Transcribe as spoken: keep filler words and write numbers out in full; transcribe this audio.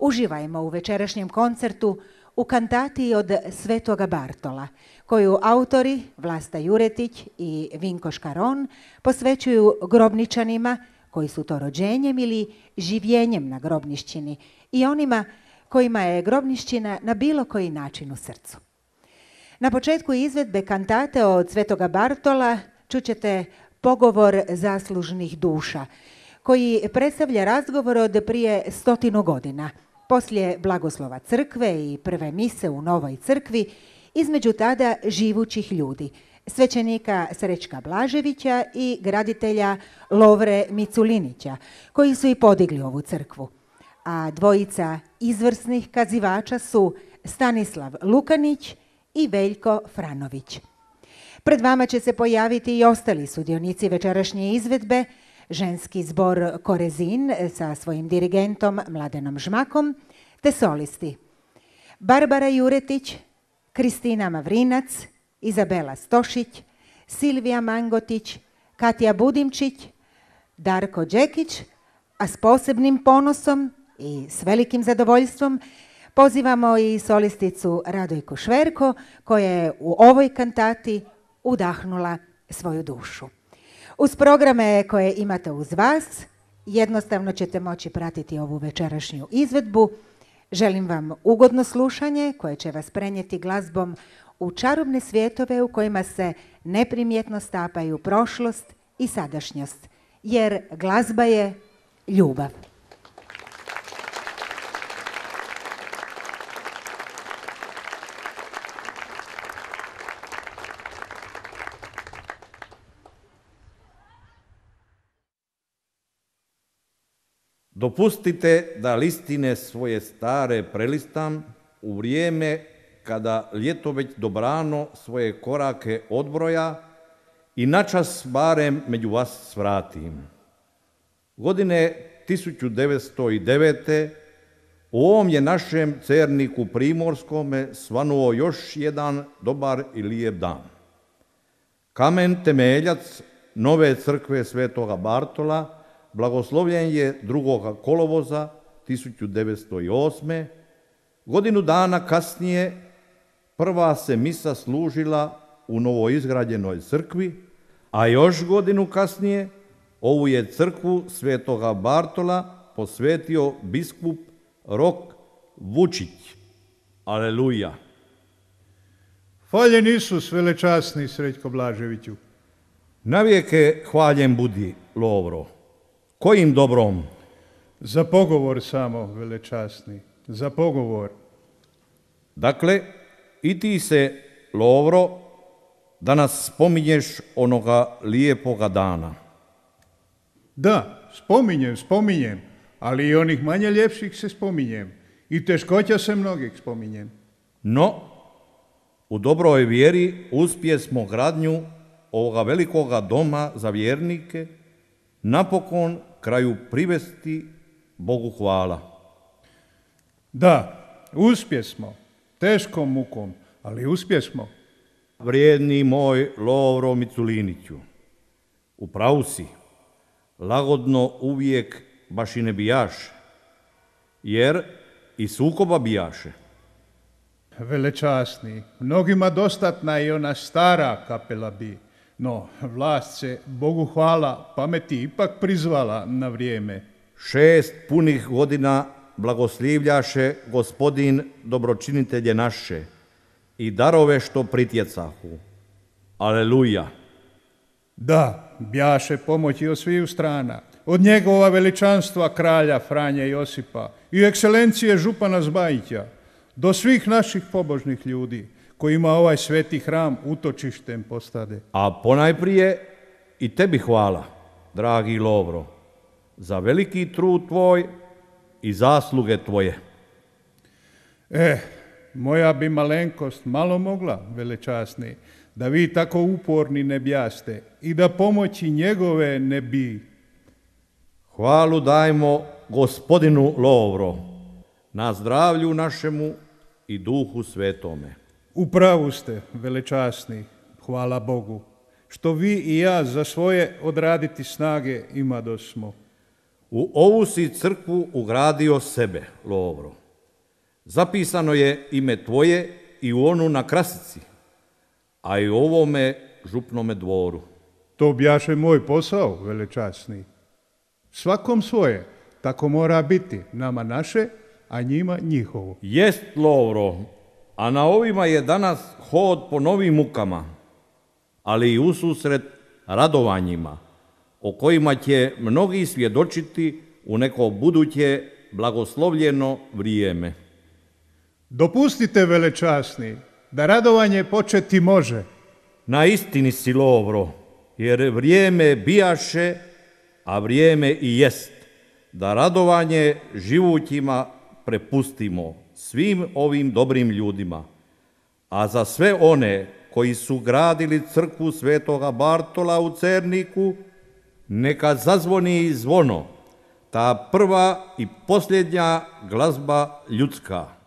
Uživajmo u večerašnjem koncertu u kantati od Svetoga Bartola, koju autori Vlasta Juretić i Vinko Škaron posvećuju grobničanima koji su to rođenjem ili življenjem na grobnišćini i onima kojima je grobnišćina na bilo koji način u srcu. Na početku izvedbe kantate od Svetoga Bartola čućete pogovor zaslužnih duša, koji predstavlja razgovor od prije stotinu godina, poslije blagoslova crkve i prve mise u Novoj crkvi, između tada živućih ljudi, svećenika Srećka Blaževića i graditelja Lovre Miculinića, koji su i podigli ovu crkvu. A dvojica izvrsnih kazivača su Stanislav Lukanić i Veljko Franović. Pred vama će se pojaviti i ostali sudionici večerašnje izvedbe, ženski zbor Korezin sa svojim dirigentom Mladenom Žmakom, te solisti Barbara Juretić, Kristina Mavrinac, Izabela Stošić, Silvija Mangotić, Katja Budimčić, Darko Đekić, a s posebnim ponosom i s velikim zadovoljstvom pozivamo i solisticu Radojku Šverko, koja je u ovoj kantati udahnula svoju dušu. Uz programe koje imate uz vas, jednostavno ćete moći pratiti ovu večerašnju izvedbu. Želim vam ugodno slušanje koje će vas prenijeti glazbom u čarobne svjetove u kojima se neprimjetno stapaju prošlost i sadašnjost, jer glazba je ljubav. Dopustite da listine svoje stare prelistam u vrijeme kada ljeto već dobrano svoje korake odbroja i načas barem među vas svratim. Godine tisuću devetsto devete u ovom je našem Cerniku Primorskome svanuo još jedan dobar i lijep dan. Kamen temeljac nove crkve Svetoga Bartola blagoslovljen je drugoga kolovoza tisuću devetsto osme. Godinu dana kasnije prva se misa služila u novoizgrađenoj crkvi, a još godinu kasnije ovu je crkvu Svetoga Bartola posvetio biskup Rok Vučić. Aleluja! Hvaljen Isus, velečasni Srećko Blaževiću. Navijeke hvaljen budi, Lovro. Kojim dobrom? Za pogovor samo, velečasni, za pogovor. Dakle, i ti se, Lovro, danas spominješ onoga lijepoga dana. Da, spominjem, spominjem, ali i onih manje ljepših se spominjem. I teškoća se mnogih spominjem. No, u dobroj vjeri uspje smo gradnju ovoga velikoga doma za vjernike napokon kraju privesti Bogu hvala. Da, uspje smo, teškom mukom, ali uspje smo. Vrijedni moj Lovro Miculiniću, u pravu si, lagodno uvijek baš i ne bijaše, jer i sukoba bijaše. Velečasni, mnogima dostatna i ona stara kapela bi, no vlast se, Bogu hvala, pameti ipak prizvala na vrijeme. Šest punih godina blagoslivljaše gospodin dobročinitelje naše i darove što pritjecahu. Aleluja! Da, bjaše pomoći od sviju strana, od njegova veličanstva kralja Franje Josipa i ekscelencije župana Zbajića, do svih naših pobožnih ljudi kojima ovaj sveti hram utočištem postade. A ponajprije i tebi hvala, dragi Lovro, za veliki trud tvoj i zasluge tvoje. Eh, moja bi malenkost malo mogla, velečasni, da vi tako uporni ne bjaste i da pomoći njegove ne bi. Hvalu dajmo gospodinu Lovro, na zdravlju našemu i duhu svetome. Upravu ste, velečasni, hvala Bogu, što vi i ja za svoje odraditi snage imadosmo. U ovu si crkvu ugradio sebe, Lovro. Zapisano je ime tvoje i u onu na krasici, a i u ovome župnome dvoru. To bjaše moj posao, velečasni. Svakom svoje, tako mora biti, nama naše, a njima njihovo. Jest, Lovro, a na ovima je danas hod po novim mukama, ali i ususret radovanjima, o kojima će mnogi svjedočiti u neko buduće blagoslovljeno vrijeme. Dopustite, velečasni, da radovanje početi može. Na istini si, Lovro, jer vrijeme bijaše, a vrijeme i jest, da radovanje živućima prepustimo svim ovim dobrim ljudima, a za sve one koji su gradili crkvu Svetoga Bartola u Cerniku, neka zazvoni zvono, ta prva i posljednja glazba ljudska.